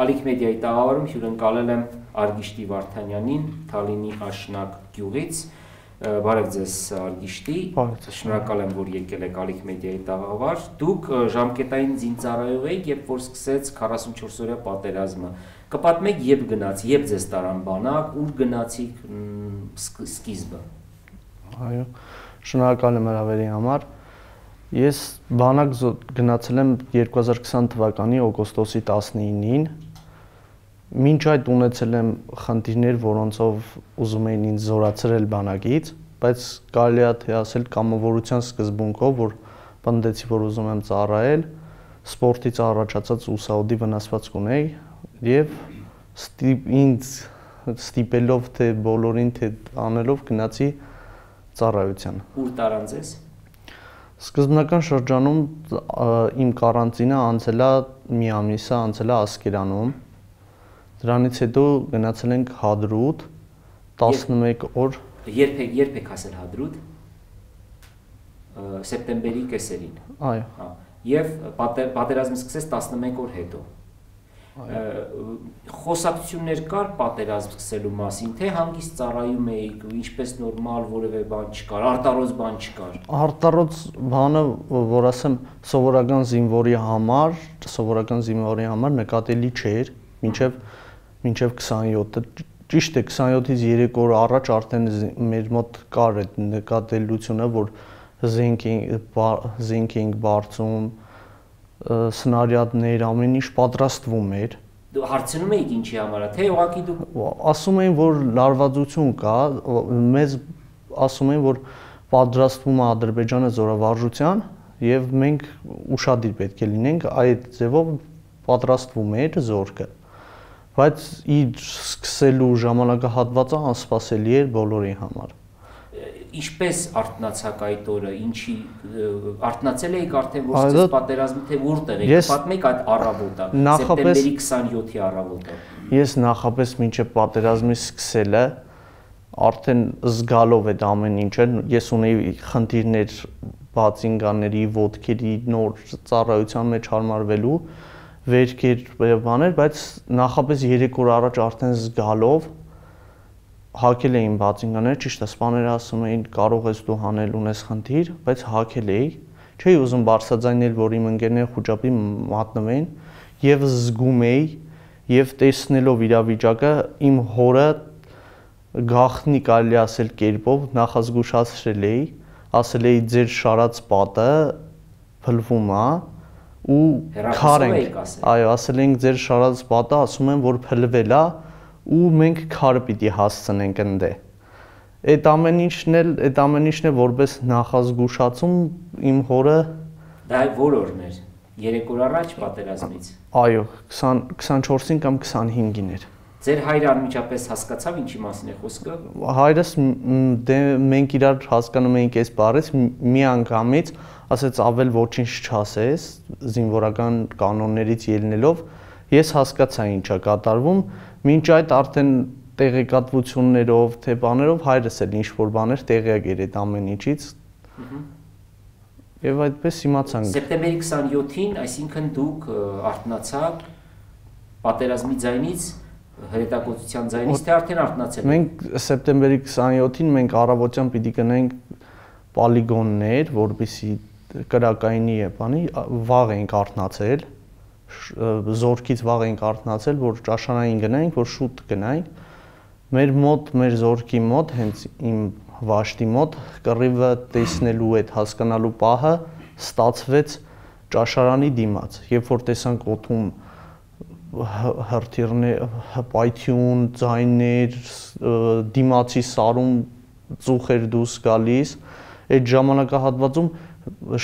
Ալիք մեդիայի տաղավարում հյուրընկալել եմ Արգիշտի Վարդանյանին, Թալինի Աշնակ գյուղից։ Բարև ձեզ Արգիշտի, շնորհակալ եմ, որ եկել եք Ալիք մեդիայի տաղավար։ Դուք ժամկետային զինծառայող եք, երբ որ սկսեց 44-օրյա պատերազմը։ Կպատմեք, երբ գնաց, երբ ձեզ տարան բանակ, ուր գնացիք սկիզբը։ Այո, շնորհակալ եմ հրավերի համար։ Ես բանակ գնացել եմ 2020 թվականի օգոստոսի 19-ին։ Մինչ այդ ունեցել եմ խնդիրներ, որոնցով ուզում էին ինձ զորացրել բանակից, բայց կարելի է թե ասել կամավորության սկզբունքով, որ պնդեցի, որ ուզում եմ ծառայել, սպորտից առաջացած ուսաուդի վնասվածք ունեի եւ ինձ ստիպելով թե բոլորին թե անելով գնացի ծառայության։ Ուր տարան ձեզ։ Սկզբնական շրջանում իմ կարանտինը անցել է մի ամիսը անցել է Ասկերանում։ Դրանից հետո գնացել ենք Հադրութ 11 օր։ Երբ եք հասել Հադրութ։ Սեպտեմբերի կեսերին։ Այո։ Եվ պատերազմը սկսեց 11 օր հետո։ Խոսակցություններ կար պատերազմ սկսելու մասին, թե հանգիստ ծառայում էիք, ինչպես նորմալ որևէ բան չկար, արտառոց բան չկար։ Արտառոց բանը, որ ասեմ, սովորական զինվորի համար նկատելի չէր, մինչև 27-ը։ Ճիշտ է, 27-ից 3 օր առաջ արդեն մեր մոտ կար այդ նկատելությունը, որ զենք էինք բարձում, սնարյադներ, ամեն ինչ պատրաստվում էր։ Դու հարցնում էիք ինչի համար, թե ուղղակի դուք ասում էին, որ լարվածություն կա, մեզ ասում էին, որ պատրաստվում է Ադրբեջանը զորավարժության եւ մենք ուշադիր պետք է լինենք, այդ ձևով պատրաստվում էր զորքը։ Բայց իր սկսելու ժամանակահատվածը անսպասելի էր բոլորի համար։ Ինչպես արթնացաք այդ օրը, ինչի արթնացել էիք արդեն որ սկսեց պատերազմը, թե որտեղ եք, պատմեք այդ առավոտը, սեպտեմբերի 27-ի առավոտը։ Ես նախապես մինչև պատերազմի սկսելը արդեն զգալով այդ ամեն ինչը, ես ունեի խնդիրներ բացինկաների, ոտքերի նոր ծառայության մեջ հարմարվելու, վերքեր բաներ, բայց նախապես 3 օր առաջ արդեն զգալով հակել էին բացինկաներ, ճիշտ է, սպաները ասում էին կարող ես դու հանել ունես խնդիր, բայց հակել էի, չէի ուզում բարձրաձայնել, որ իմ ընկերները խուճապի մատնվեն եւ զգում էի եւ տեսնելով իրավիճակը իմ հորը գախնի կարելի ասել կերպով նախազգուշացրել էի, ասել էի ձեր շարած պատը փլվում է ու քարենք, այո, ասել ենք ձեր շարած պատը ասում են որ փլվել է ու մենք քարը պիտի հասցնենք ընդ է։ Այդ ամեն ինչն է որպես նախազգուշացում իմ հորը դա որ օրն էր 3 օր առաջ պատերազմից։ Այո, 24-ին կամ 25-ին էր։ Ձեր հայրը անմիջապես հասկացավ ինչի մասին է խոսքը։ Հայրս դե մենք իրար հասկանում էինք այս բառից մի անգամից ասեց ավել ոչինչ չասես զինվորական կանոններից ելնելով ես հասկացա ինչա կատարվում մինչ այդ արդեն տեղեկատվություններով թե բաներով հայրս էլ ինչ որ բաներ տեղյակ էր այդ ամեն ինչից եւ այդպես իմացանք Սեպտեմբերի 27-ին, այսինքն դուք արթնացաք պատերազմի ձայնից հրետակոծության ձայնից թե արդեն արթնացել եք։ Մենք սեպտեմբերի 27-ին մենք առավոտյան պիտի գնանք պոլիգոններ, որպեսզի կրակայինի է բանի վաղ ենք արթնացել զորքից վաղ ենք արթնացել, որ ճաշարանին գնայինք, որ շուտ գնայինք։ Մեր զորքի մոտ, հենց իմ վաշտի մոտ, կռիվը տեսնելու այդ հասկանալու պահը ստացվեց ճաշարանի դիմաց։ Երբ որ տեսանք օդում հրթիռներ, հպայթյուն, ձայներ, դիմացի սարում ծուխեր դուրս գալիս, այդ ժամանակահատվածում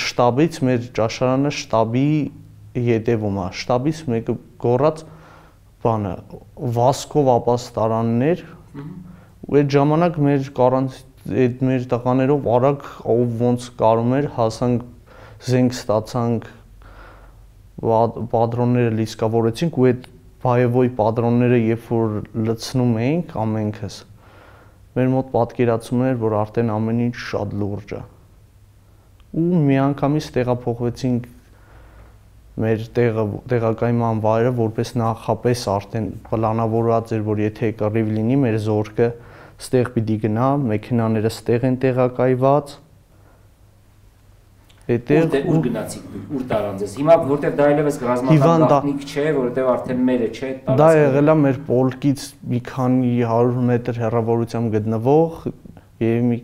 շտաբից մեր ճաշարանը շտաբի ետևում է, շտաբից մեկը գոռաց բանը, վասկով ապաստարաններ, ու այդ ժամանակ մեր տղաներով արագ ով ոնց կարում էր, հասանք զենք ստացանք, պատրոնները լիսկավորեցինք ու այդ բայևոյ պատրոնները երբ որ լցնում էինք ամենքս, մեր մոտ պատկերացում էր, որ արդեն ամեն ինչ շատ լուրջ է։ Ու միանգամից տեղափոխվեցինք մեր տեղակայման վայրը որպես նախապես արդեն պլանավորված էր, որ եթե կռիվ լինի, մեր զորքը ստեղ պիտի գնա, մեքենաները ստեղ են տեղակայված։ Ուր գնացիք դուք, ուր տարանձես։ Հիմա որտեղ դա այլևս ռազմական գաղտնիք չէ, որովհետև արդեն մերը չէ, դա եղել է մեր պոլկից մի քանի 100 մետր հեռավորությամբ գտնվող եւ մի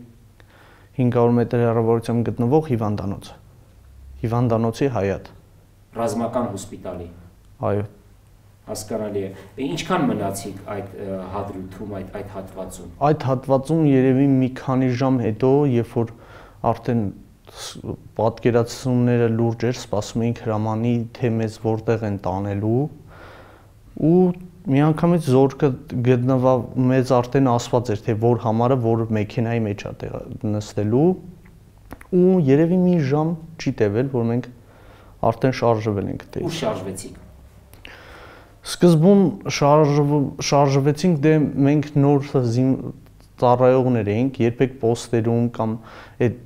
500 մետր հեռավորությամբ գտնվող հիվանդանոց։ Հիվանդանոցի հայատ։ Ռազմական հոսպիտալի։ Այո։ Հասկանալի է։ Ինչքան մնացիք այդ հադրութում, այդ հատվածում։ Այդ հատվածում երևի մի քանի ժամ հետո, երբ որ արդեն պատկերացումները լուրջ էր, սպասում էինք հրամանի, թե մեզ որտեղ են տանելու, ու միանգամից զորքը գտնվավ, մեզ արդեն ասված էր, թե որ համարը, որ մեքենայի մեջ է նստելու, ու երևի մի ժամ չի տևել, որ մենք արդեն շարժվել ենք դե։ Ու շարժվեցիք։ Սկզբում շարժվեցինք, դե մենք նոր ծառայողներ էինք, երբեք պոստերում կամ այդ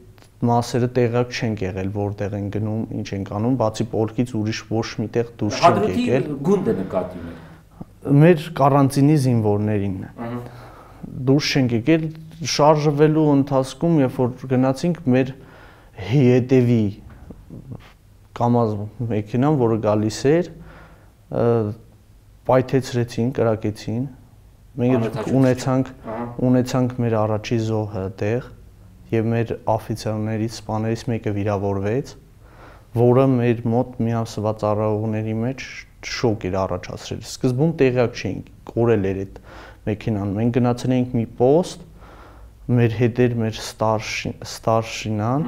մասերը տեղակ չենք եղել, որտեղ են գնում, ինչ ենք անում, բացի պոլկից ուրիշ ոչ միտեղ դուրս չենք եկել։ Հադրութի գունդը նկատի ունեք։ Մեր կարանտինի զինվորներին։ Դուրս չենք եկել, շարժվելու ընթացքում, երբ որ գնացինք, մեր հետևի կամազ մեքենան, որը գալիս էր, պայթեցրեցին, կրակեցին։ Մենք ունեցանք մեր առաջի զոհը տեղ եւ մեր օֆիցերներից, սպաներից մեկը վիրավորվեց, որը մեր մոտ միասնված ծառայողների մեջ շոկ էր առաջացրել։ Սկզբում տեղյակ չէինք, կորել էր այդ մեքենան։ Մենք գնացել էինք մի պոստ, մեր հետ էր մեր ստարշինան,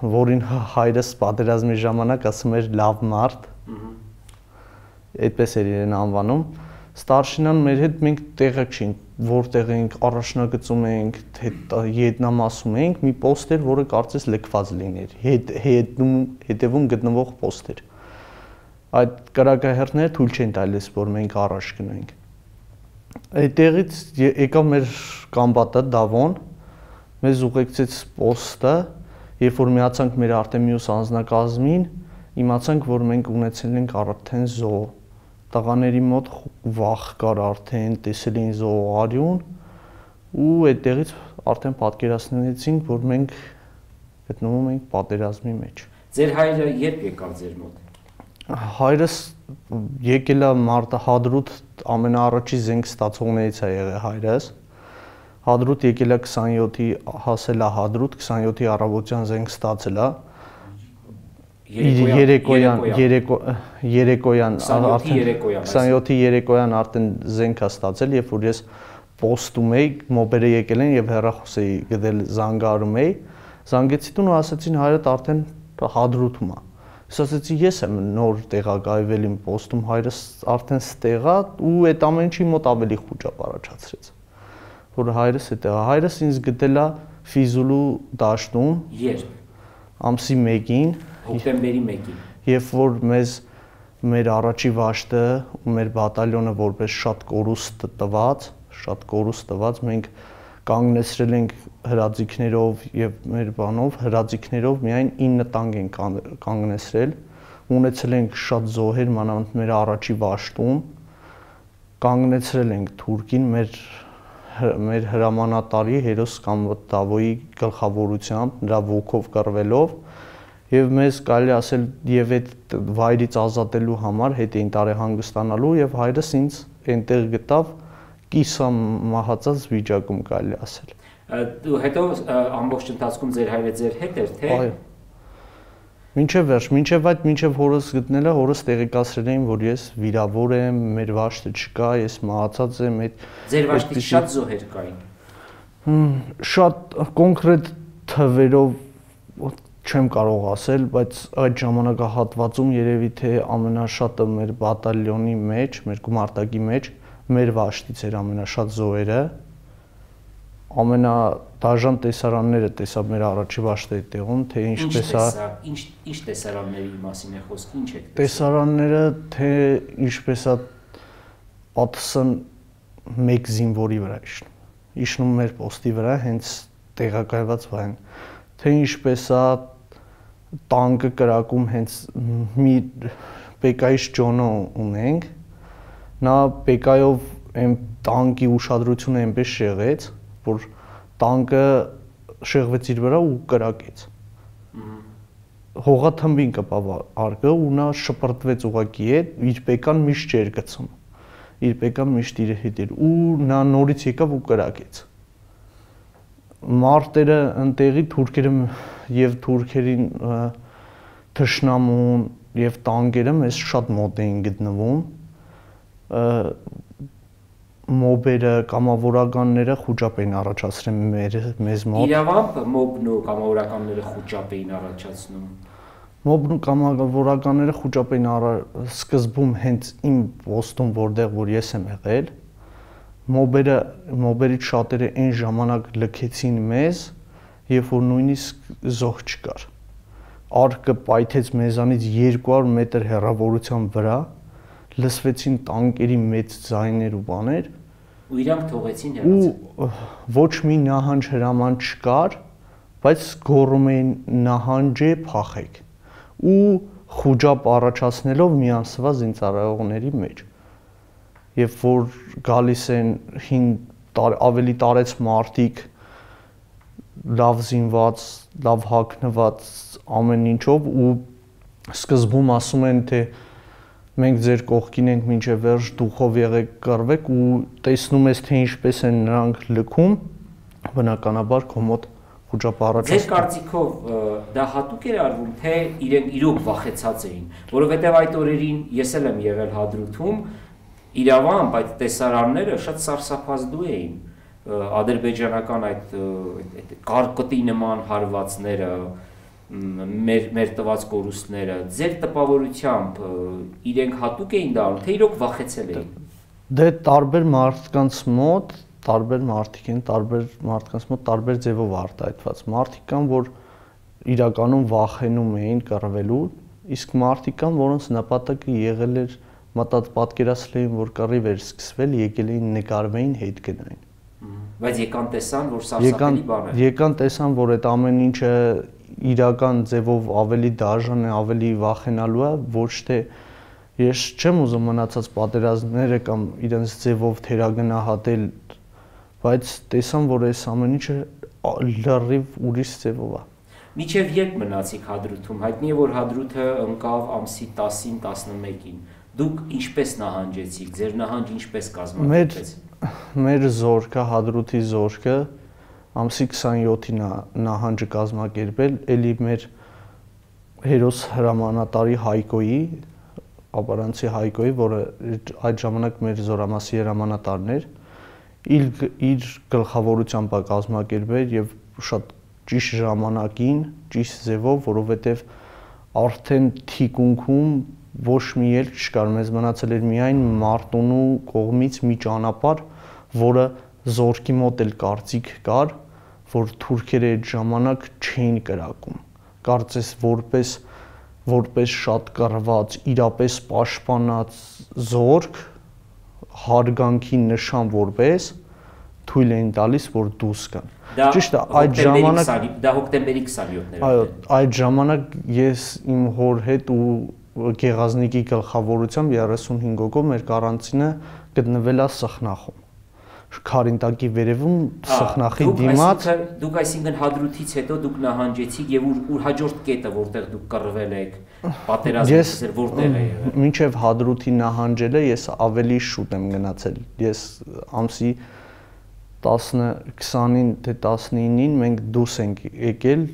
որին հայրս պատերազմի ժամանակ ասում էր լավ մարդ, այդպես էր իրեն անվանում։ Ստարշինան մեր հետ մենք տեղյակ չէինք, որտեղ ենք, առաջնագծում ենք, ետնամասում ենք, մի պոստ էր, որը կարծես լքված լիներ, հետևում գտնվող պոստ էր։ Այդ կրակահերթները թույլ չեն տալիս, որ մենք առաջ գնանք։ Այդտեղից եկավ մեր կամբատը Դավոն, մեզ ուղեկցեց պոստը, երբ որ միացանք մեր արդեն մյուս անձնակազմին, իմացանք, որ մենք ունեցել ենք արդեն զոհ։ Տղաների մոտ վախ կար արդեն, տեսել էին զոհարյուն, ու այդտեղից արդեն պատկերացնեցինք, որ մենք գտնվում ենք պատերազմի մեջ։ Ձեր հայրը երբ եկավ ձեր մոտ։ Հայրս եկել է Հադրութ ամենաառաջի զենք ստացողներից է եղել հայրս։ Հադրութ եկել է 27-ի, հասել է Հադրութ 27-ի առավոտյան զենք ստացել է։ Երեկոյան 27-ի երեկոյան արդեն զենք է ստացել, երբ որ ես պոստում էի, մոբերը եկել են եւ հեռախոս էի գտել, զանգարում էի, զանգեցի տուն ու ասացին հայրդ արդեն Հադրութում է։ Ես ասացի ես եմ նոր տեղակայվել իմ պոստում, հայրս արդեն ստեղ է ու այդ ամենի մոտ ավելի խոճապ առաջացրեց, որ հայրս է տեղա։ Հայրս ինձ գտել է Ֆիզուլու դաշտում։ Երբ։ Ամսի 1-ին, հոկտեմբերի 1-ին։ Երբ որ մեր առաջի վաշտը ու մեր բատալյոնը որպես շատ կորուստ տված, մենք կանգնեցրել ենք հրաձիգներով եւ մեր բանով, հրաձիգներով միայն 9 տանկ են կանգնեցրել, ունեցել ենք շատ զոհեր, մանավանդ մեր առաջի վաշտում, կանգնեցրել ենք թուրքին մեր հրամանատարի Հերոս Կամբատավոյի գլխավորությամբ, նրա ոգով կռվելով, եւ մեզ կարելի ասել եւ այդ վայրից ազատելու համար հետ էին տարեհանգստանալու եւ հայրս ինձ այնտեղ գտավ կիսա մահացած վիճակում կարելի ասել։ Դու հետո ամբողջ ընթացքում ձեր հայրը ձեր հետ էր, թե։ Այո։ Մինչև վերջ, մինչև հորս գտնելը, հորս տեղեկացրել էին, որ ես վիրավոր եմ, մեր վաշտը չկա, ես մահացած եմ, այդ ձեր վաշտից շատ զոհեր կային։ Շատ կոնկրետ թվերով չեմ կարող ասել, բայց այդ ժամանակահատվածում երևի թե ամենաշատը մեր բատալյոնի մեջ, մեր գումարտակի մեջ մեր վաշտից էր ամենաշատ զոհերը, ամենադաժան տեսարանները տեսա մեր առաջի վաշտերի տեղում, թե ինչպես է։ Ինչ տեսարանների մասին է խոսքը, ինչ է։ Տեսարանները, թե ինչպես է պատասխան մեկ զինվորի վրա իջնում մեր պոստի վրա, հենց տեղակայված վայրն, թե ինչպես է տանկը կրակում հենց մի Պեկայից Ջոնը ունենք, նա Պեկայով այն տանկի ուշադրությունը այնպես շեղեց, որ տանկը շեղվեց իր վրա ու կրակեց։ Հողաթմբին կպավ արկը ու նա շպրտվեց ուղակի հետ, իր Պեկան միշտ չէր գցում։ Իր Պեկան միշտ իր հետ էր ու նա նորից եկավ ու կրակեց։ Մարտերը ընտեղի թուրքերը եւ թուրքերին թշնամուն եւ տանկերը մեզ շատ մոտ էին գտնվում։ Մոբերը, կամավորականները խոճապ էին առաջացրել մեզ մոտ։ Իրավամբ մոբն ու կամավորականները խոճապ էին առաջացնում։ Մոբն ու կամավորականները խոճապ էին սկզբում հենց իմ պոստում, որտեղ որ ես եմ եղել, մոբերից շատերը այն ժամանակ լքեցին մեզ, երբ որ նույնիսկ զոհ չկար։ Արկը պայթեց մեզանից 200 մետր հեռավորության վրա, լսվեցին տանկերի մեծ ձայներ ու բաներ, ու իրանք թողեցին հեռացել։ Ու ոչ մի նահանջ հրաման չկար, բայց գոռում էին նահանջ է փախեք։ Ու խոճապ առաջացնելով միանսված զինծառայողների մեջ։ Երբ որ գալիս են ավելի տարեց մարդիկ, լավ զինված, լավ հագնված ամեն ինչով ու սկզբում ասում են թե մենք ձեր կողքին ենք մինչև վերջ, դուխով եղեք, կռվեք ու տեսնում ես թե ինչպես են նրանք լքում, բնականաբար քո մոտ խոճապ առաջացնում։ Ձեր կարծիքով դա հատուկ էր արվում, թե իրենք իրոք վախեցած էին, որովհետև այդ օրերին ես էլ եմ եղել Հադրութում, իրավամբ այդ տեսարանները շատ սարսափազդու էին, ադրբեջանական այդ կարկտի նման հարվածները, մեր տված կորուստները, ձեր տպավորությամբ իրենք հատուկ էին դա, թե իրոք վախեցել էին։ Դե տարբեր մարդկանց մոտ, տարբեր մարդիկ են, տարբեր մարդկանց մոտ տարբեր ձևով արտահայտված։ Մարդիկ կան, որ իրականում վախենում էին կռվելու, իսկ մարդիկ կան, որոնց նպատակը եղել էր պատկերացրել էին, որ կռիվ էր սկսվել, եկել էին նկարվեին, հետ գնային։ Բայց եկան տեսան, որ սարսափելի բան է։ Եկան տեսան, որ այդ ամեն ինչը իրական ձևով ավելի դաժան է, ավելի վախենալու է, ոչ թե ես չեմ ուզում մնացած պատերազմները կամ իրենց ձևով թերագնահատել, բայց տեսան, որ այս ամեն ինչը լրիվ ուրիշ ձևով է։ Մինչև երբ մնացիք Հադրութում, հայտնի է, որ Հադրութը ընկավ ամսի 10-ին, 11-ին։ Դուք ինչպես նահանջեցիք, ձեր նահանջ ինչպես կազմակերպվեց։ Մեր զորքը, Հադրութի զորքը ամսի 27-ին նահանջը կազմակերպել, էլի մեր հերոս հրամանատարի Հայկոյի, ապարանցի Հայկոյի, որը այդ ժամանակ մեր զորամասի հրամանատարն էր, իր գլխավորությամբ կազմակերպել եւ շատ ճիշտ ժամանակին, ճիշտ ձևով, որովհետեւ արդեն թիկունքում ոչ մի ելք չկար, մեզ մնացել էր միայն Մարտունու կողմից մի ճանապարհ, որը զորքի մոտ էլ կարծիք կար, որ թուրքերը այդ ժամանակ չէին կրակում։ Կարծես որպես շատ կռված, իրապես պաշտպանած զորք հարգանքի նշան որպես թույլ էին տալիս, որ դուրս գան։ Ճիշտ է, այդ ժամանակ դա հոկտեմբերի 27-ն էր։ Այո, այդ ժամանակ ես իմ հոր հետ ու Գեղազնիկի գլխավորությամբ 35 հոգով մեր կարանտինը գտնվել է Սխնախում։ Քարինտակի վերևում Սխնախի դիմաց։ Դուք այսինքն Հադրութից հետո դուք նահանջեցիք եւ ուր հաջորդ կետը, որտեղ դուք կռվել եք, պատերազմը որտեղ է եղել։ Մինչև Հադրութի նահանջելը ես ավելի շուտ եմ գնացել։ Ես ամսի 20-ին թե 19-ին մենք դուրս ենք եկել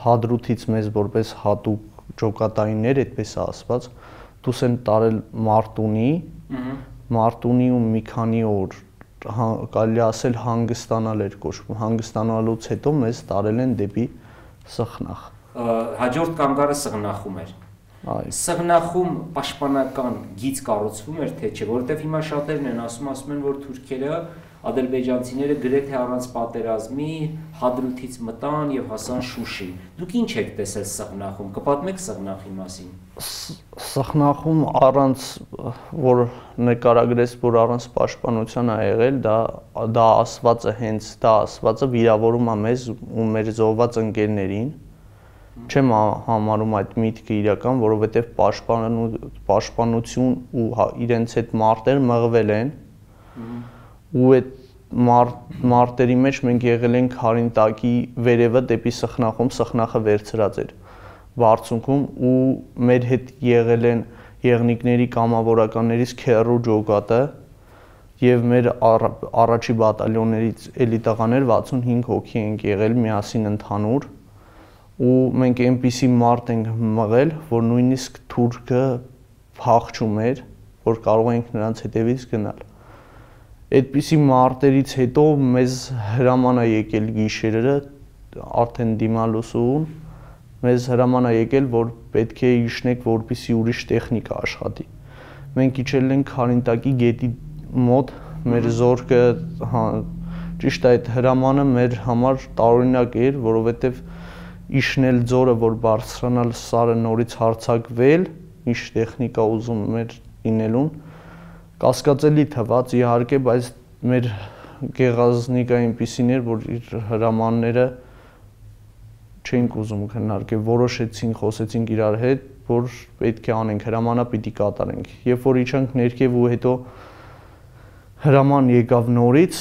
Հադրութից մեզ որպես հատուկ ջոկատայիններ, այդպես ասված, դուս են տարել Մարտունիում մի քանի օր, կարելի ասել հանգստանալ էր կոչվում, հանգստանալուց հետո մեզ տարել են դեպի Սխնախ։ Հաջորդ կանգառը Սխնախում էր։ Սխնախում պաշտպանական գիծ կառուցվում էր, թե չէ, որովհետև հիմա շատերն են ասում են, որ թուրքերը ադրբեջանցիները գրեթե առանց պատերազմի Հադրութից մտան եւ հասան Շուշի։ Դուք ինչ եք տեսել Սխնախում, կպատմեք Սխնախի մասին։ Սխնախում առանց որ նկարագրես, որ առանց պաշտպանության է եղել, դա ասվածը հենց դա ասվածը վիրավորում է մեզ ու մեր զոհված ընկերներին Չեմ համարում այդ միտքը իրական, որովհետև պաշտպանություն ու իրենց հետ մարտեր մղվել են ու այդ մարտերի մեջ մենք եղել ենք Խարինտակի վերևը դեպի Սխնախում, Սխնախը վերցրած էր բարձունքում ու մեր հետ եղել են եղնիկների կամավորականներից Քերու ջոկատը եւ մեր առաջի բատալյոններից էլի տղաներ 65 հոգի ենք եղել միասին ընդհանուր ու մենք այնպիսի մարդ ենք մղել, որ նույնիսկ թուրքը փախչում էր, որ կարող ենք նրանց հետևից գնալ։ Այդպիսի մարտերից հետո մեզ հրաման է եկել գիշերը արդեն դիմալուսուն մեզ հրաման է եկել, որ պետք է իջնեք, որպեսզի ուրիշ տեխնիկա աշխատի։ Մենք իջել ենք Խարինտակի գետի մոտ, մեր զորքը, ճիշտ այդ հրամանը մեր համար տարօրինակ էր, որովհետև իջնել ձորը, որ բարձրանալ սարը նորից հարձակվել, ինչ տեխնիկա ուզում մեր լինելուն, կասկածելի թվաց իհարկե, բայց մեր գեղազնիկը այնպիսին էր, որ իր հրամանները չենք ուզում քննարկել, որոշեցինք, խոսեցինք իրար հետ, որ պետք է անենք, հրամանը պիտի կատարենք։ Երբ որ իջանք ներքև ու հետո հրաման եկավ նորից,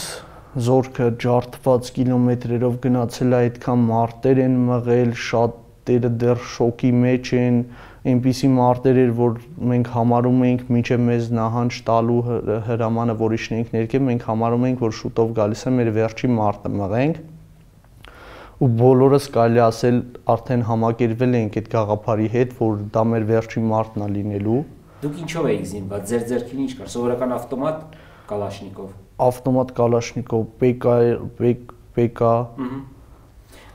զորքը ջարդված կիլոմետրերով գնացել է, այդքան մարտեր են մղել, շատերը դեռ շոկի մեջ են, այնպիսի մարտեր էր, որ մենք համարում էինք մինչև մեզ նահանջ տալու հրամանը, որ իջնենք ներքև, մենք համարում էինք, որ շուտով գալիս է մեր վերջի մարտը մղենք ու բոլորս կարելի ասել արդեն համակերպվել էինք այդ գաղափարի հետ, որ դա մեր վերջի մարտն է լինելու։ Դուք ինչով էիք զինված, ձեր ձեռքին ինչ կար, սովորական ավտոմատ, կալաշնիկով։ Ավտոմատ կալաշնիկով, PK։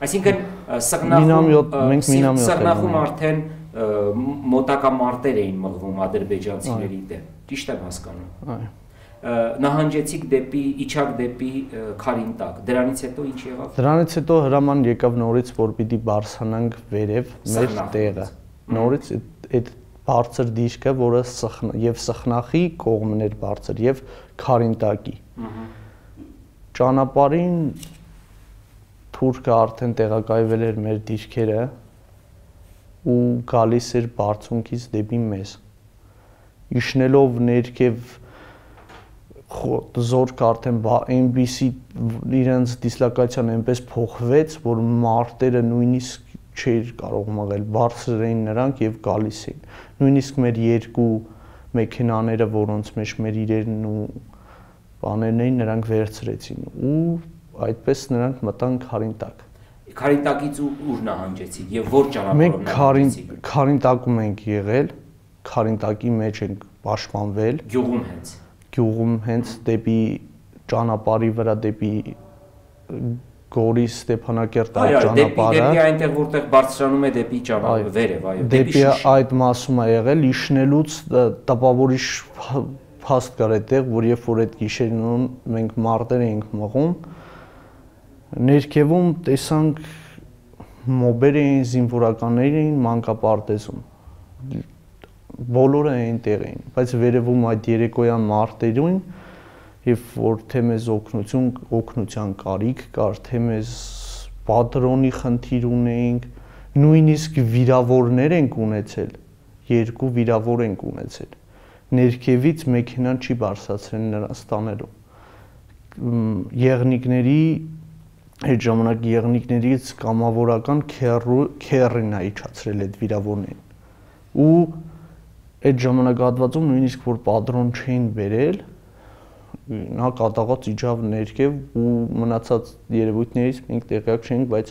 Այսինքն Սխնախում արդեն մոտակա մարտեր էին մղվում ադրբեջանցիների դեմ, ճիշտ եմ հասկանում։ Այո։ Նահանջեցիք իջաք դեպի Խարինտակ, դրանից հետո ինչ եղավ։ Դրանից հետո հրաման եկավ նորից, որ պիտի բարձրանանք վերև մեր տեղը։ Նորից այդ բարձր դիրքը, որը եւ Սխնախի կողմն էր բարձր եւ Խարինտակի։ Ճանապարհին թուրքը արդեն տեղակայվել էր մեր դիրքերը ու գալիս էր բարձունքից դեպի մեզ։ Իջնելով ներքև զորքը արդեն այնպիսի իրենց դիսլոկացիան այնպես փոխվեց, որ մարտերը նույնիսկ չէր կարող մղել, բարձր էին նրանք եւ գալիս էին։ Նույնիսկ մեր երկու մեքենաները, որոնց մեջ մեր իրերն ու բաներն էին, նրանք վերցրեցին ու այդպես նրանք մտան Խարինտակ։ Խարինտակից ուր նահանջեցիք եւ որ ճանապարհով նահանջեցիք։ Մենք Խարինտակում ենք եղել, Խարինտակի մեջ ենք պաշտպանվել։ Գյուղում հենց դեպի ճանապարհի վրա դեպի Գորիս Ստեփանակերտ ճանապարհը։ Դեպի այնտեղ որտեղ բարձրանում է դեպի ճանապարհը վերև, այո, դեպի այդ մասում է եղել, իջնելուց տպավորիչ փաստ կար այդտեղ, որ երբ որ այդ գիշերն մենք մարտեր էինք մղում, ներքևում տեսանք մոբեր էին, զինվորականներ էին մանկապարտեզում։ Բոլորը այնտեղ էին, բայց վերևում այդ երեկոյան մարտերին, երբ որ թե մեզ օգնության կարիք կար, թե մեզ պատրոնի խնդիր ունեինք, նույնիսկ վիրավորներ ենք ունեցել, 2 վիրավոր ենք ունեցել։ Ներքևից մեքենան չի բարձրացրել նրանց տանելու։ Եղնիկների այդ ժամանակ եղնիկներից կամավորական քերին է իջացրել այդ վիրավորներին։ Ու այդ ժամանակահատվածում նույնիսկ որ պատրոն չէին բերել, նա կատաղած իջավ ներքև ու մնացած երևույթներից մենք տեղյակ չենք, բայց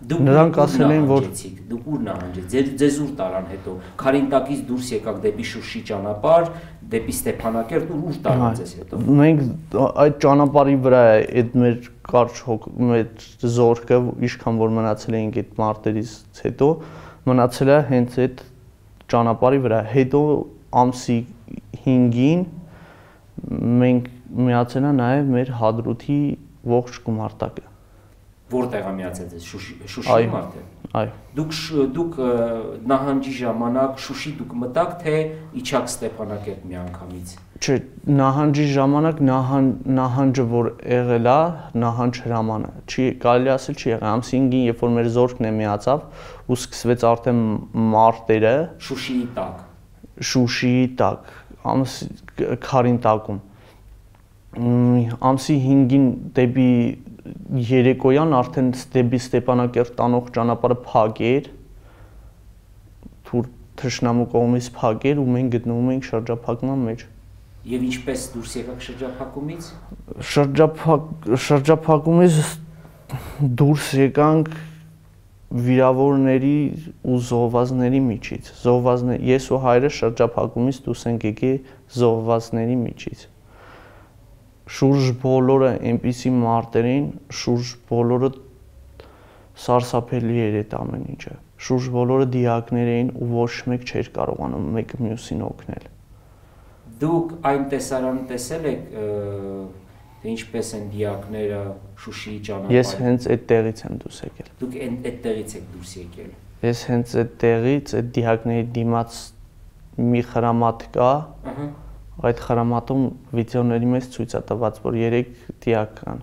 նրանք ասել են, որ դուք ուր նահանջեցիք, ձեզ ուր տարան հետո, Խարինտակից դուրս եկաք դեպի Շուշի ճանապարհ, դեպի Ստեփանակերտ, ուր տարան ձեզ հետո։ Մենք այդ ճանապարհի վրա է այդ մեր կարճ մեր զորքը, ինչքան որ մնացել էինք այդ մարտերից հետո, մնացել է հենց այդ ճանապարհի վրա։ Հետո ամսի 5-ին մենք միացել է նաև մեր Հադրութի ողջ գումարտակը։ Որտեղ է միացել ձեզ Շուշի մարտը։ Այո։ Դուք նահանջի ժամանակ Շուշի դուք մտաք, թե իջաք Ստեփանակերտ միանգամից։ Չէ, նահանջի ժամանակ նահանջը որ եղել է, նահանջ հրամանը, չի կարելի ասել չի եղել, ամսի 5-ին, երբ որ մեր զորքն է միացավ ու սկսվեց արդեն մարտերը Շուշիի տակ, քարին տակում։ Ամսի 5-ին դեպի երեկոյան արդեն դեպի Ստեփանակերտ տանող ճանապարհը փակ էր, թշնամու կողմից փակ էր ու մենք գտնվում էինք շրջափակման մեջ։ Եվ ինչպես դուրս եկաք շրջափակումից։ Շրջափակումից դուրս եկանք վիրավորների ու զոհվածների միջից։ Ես ու հայրս շրջափակումից դուրս ենք եկել զոհվածների միջից։ Շուրջ բոլորը այնպիսի մարտերին, շուրջ բոլորը սարսափելի էր այդ ամեն ինչը։ Շուրջ բոլորը դիակներ էին ու ոչ մեկ չէր կարողանում մեկը մյուսին օգնել։ Դուք այն տեսարանը տեսել եք, թե ինչպես են դիակները Շուշիի ճանապարհին։ Ես հենց այդտեղից եմ դուրս եկել։ Դուք այդտեղից եք դուրս եկել։ Ես հենց այդտեղից այդ դիակների դիմաց մի խրամատ կա։ Այդ խրամատում վիդեոների մեջ ցույց է տված, որ 3 դիակ կան։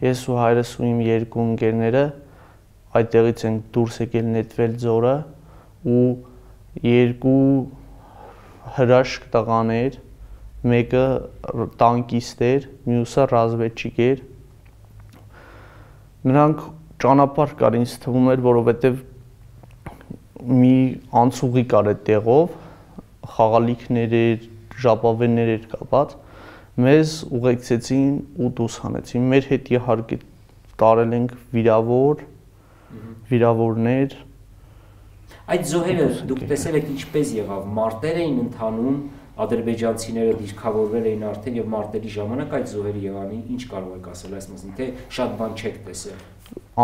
Ես ու հայրս ու իմ 2 ընկերները այդտեղից ենք դուրս եկել նետվել ձորը ու 2 հրաշք տղաներ, մեկը տանկիստ էր, մյուսը ռազմետչիկ էր։ Նրանք ճանապարհ կար, ինձ թվում էր, որովհետև մի անցուղի կար այդ տեղով, խաղալիքներ էր, ժապավեններ էր կապած, մեզ ուղեկցեցին ու դուրս հանեցին։ Մեր հետ իհարկե տարել ենք վիրավորներ։ Այդ զոհերը դուք տեսել եք ինչպես եղավ, մարտեր էին ընթանում, ադրբեջանցիները դիրքավորվել էին արդեն եւ մարտերի ժամանակ այդ զոհերը եղան, ինչ կարող եք ասել այս մասին, թե շատ բան չեք տեսել։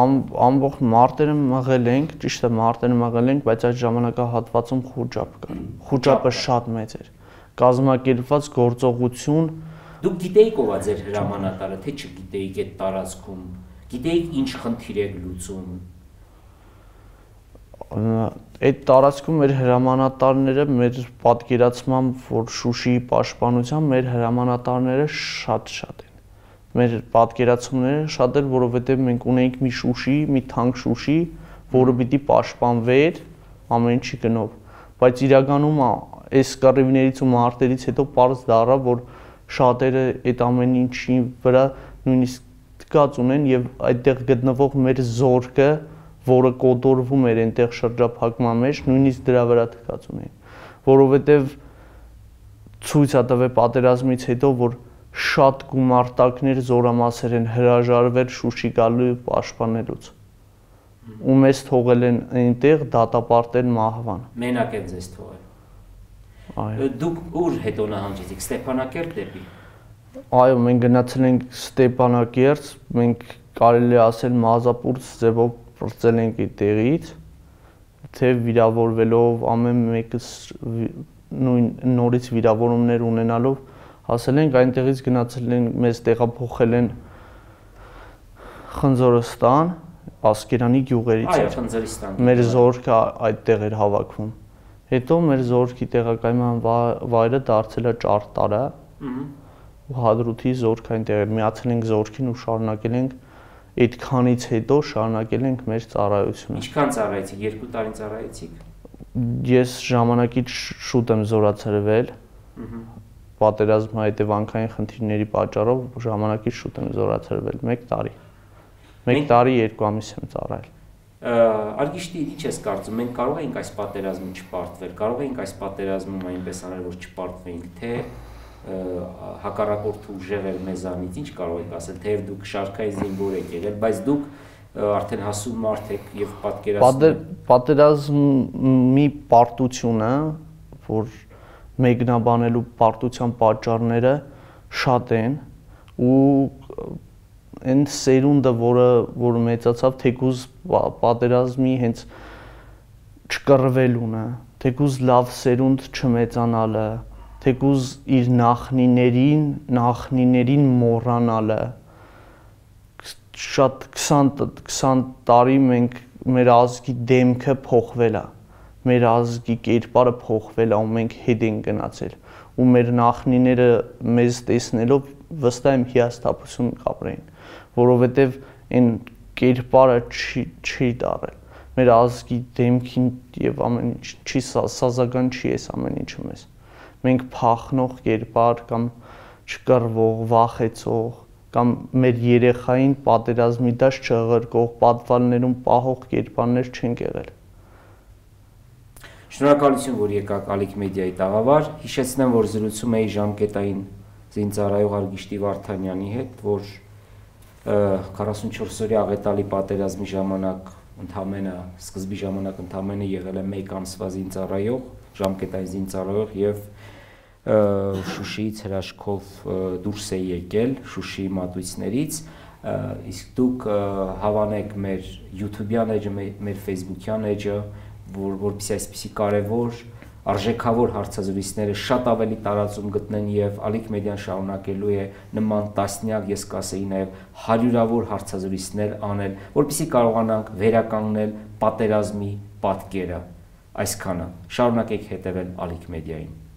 Ամբողջ մարտերը մղել ենք, ճիշտ է, մարտերը մղել ենք, բայց այդ ժամանակահատվածում խուճապ կար։ Խուճապը շատ մեծ էր։ Կազմակերպված գործողություն։ Դուք գիտեիք ով է ձեր հրամանատարը, թե չգիտեիք այդ տարածքում, գիտեիք ինչ խնդիր եք լուծում։ Այդ տարածքում մեր հրամանատարները, մեր պատկերացմամբ, որ Շուշիի պաշտպանությամբ մեր հրամանատարները շատ են։ Մեր պատկերացումները շատ էր, որովհետև մենք ունեինք մի Շուշի, մի թանկ Շուշի, որը պիտի պաշտպանվեր ամեն ինչի գնով, բայց իրականում այս կռիվներից ու մարտերից հետո պարզ դառավ, որ շատերը այդ ամեն ինչի վրա նույնիսկ թքած ունեն եւ այդտեղ գտնվող մեր զորքը, որը կոտորվում էր այնտեղ շրջափակման մեջ, նույնիսկ դրա վրա թքած ունեն, որովհետեւ ցույց է տվել պատերազմից հետո, որ շատ գումարտակներ զորամասեր են հրաժարվել Շուշի գալու պաշտպանելուց։ Ու մեզ թողել են այնտեղ դատապարտել մահվան։ Մենակ են ձեզ թողել։ Դուք ուր հետո նահանջեցիք, Ստեփանակերտ դեպի։ Այո, մենք գնացել ենք Ստեփանակերտ, մենք կարելի է ասել մազապուրց ձևով պրծել ենք այդտեղից, թե վիրավորվելով ամեն մեկս նորից վիրավորումներ ունենալով հասել ենք այնտեղից գնացել են մեզ տեղափոխել են Խնձորստան, Ասկերանի գյուղերից։ Այո, Խնձորստան։ Մեր զորքը այդտեղ էր հավաքվում։ Հետո մեր զորքի տեղակայման վայրը դարձել է Ճարտարը։ Ու Հադրութի զորքը այնտեղ էր, միացել ենք զորքին ու շարունակել ենք այդքանից հետո շարունակել ենք մեր ծառայությունը։ Ինչքան ծառայեցիք, 2 տարին ծառայեցիք։ Ես ժամանակից շուտ եմ զորացրվել։ Պատերազմի հետևանքային խնդիրների պատճառով ժամանակից շուտ եմ զորացրվել, 1 տարի։ 1 տարի 2 ամիս եմ ծառայել։ Արգիշտի, ինչ ես կարծում, մենք կարող ենք այս պատերազմին չպարտվել, կարող ենք այս պատերազմում այնպես անել, որ չպարտվեինք, թե հակառակորդը ուժեղել մեզանից, ինչ կարող եք ասել, թեև դուք շարքային զինվոր եք եղել, բայց դուք արդեն հասուն մարդ եք եւ պատերազմի պարտությունը, որ մեկնաբանելու պարտության պատճառները շատ են ու այն սերունդը, որը մեծացավ, թեկուզ պատերազմի հենց չկռվելունը, թեկուզ լավ սերունդ չմեծանալը, թեկուզ իր նախնիներին մոռանալը, շատ 20 տարի մեր ազգի դեմքը փոխվել է, մեր ազգի կերպարը փոխվել է ու մենք հետ ենք գնացել ու մեր նախնիները մեզ տեսնելով վստահ եմ հիասթափություն կապրեին, որովհետև այն կերպարը չի դարել։ Մեր ազգի դեմքին եւ ամեն ինչ չի սազական չի էս ամեն ինչը մեզ։ Մենք փախնող կերպար կամ չկռվող, վախեցող կամ մեր երեխային պատերազմի դաշ չղրկող պատվալներում պահող կերպարներ չենք եղել։ Շնորհակալություն, որ եկաք Ալիք մեդիայի տաղավար։ Հիշեցնեմ, որ զրուցում էի ժամկետային զինծառայող Արգիշտի Վարդանյանի հետ, որ 44-օրյա աղետալի պատերազմի ժամանակ սկզբի ժամանակ ընդամենը եղել է 1 ամսվա զինծառայող, ժամկետային զինծառայող եւ Շուշիից հրաշքով դուրս է եկել Շուշիի մատույցներից, իսկ դուք հավանեք մեր YouTube-յան էջը, մեր Facebook-յան էջը, որպեսզի այսպիսի կարևոր արժեքավոր հարցազրույցները շատ ավելի տարածում գտնեն եւ Ալիք մեդիան շարունակելու է նման տասնյակ, ես կասեի նաեւ հարյուրավոր հարցազրույցներ անել, որպեսզի կարողանանք վերականգնել պատերազմի պատկերը։ Այսքանը։ Շարունակեք հետևել Ալիք մեդիային։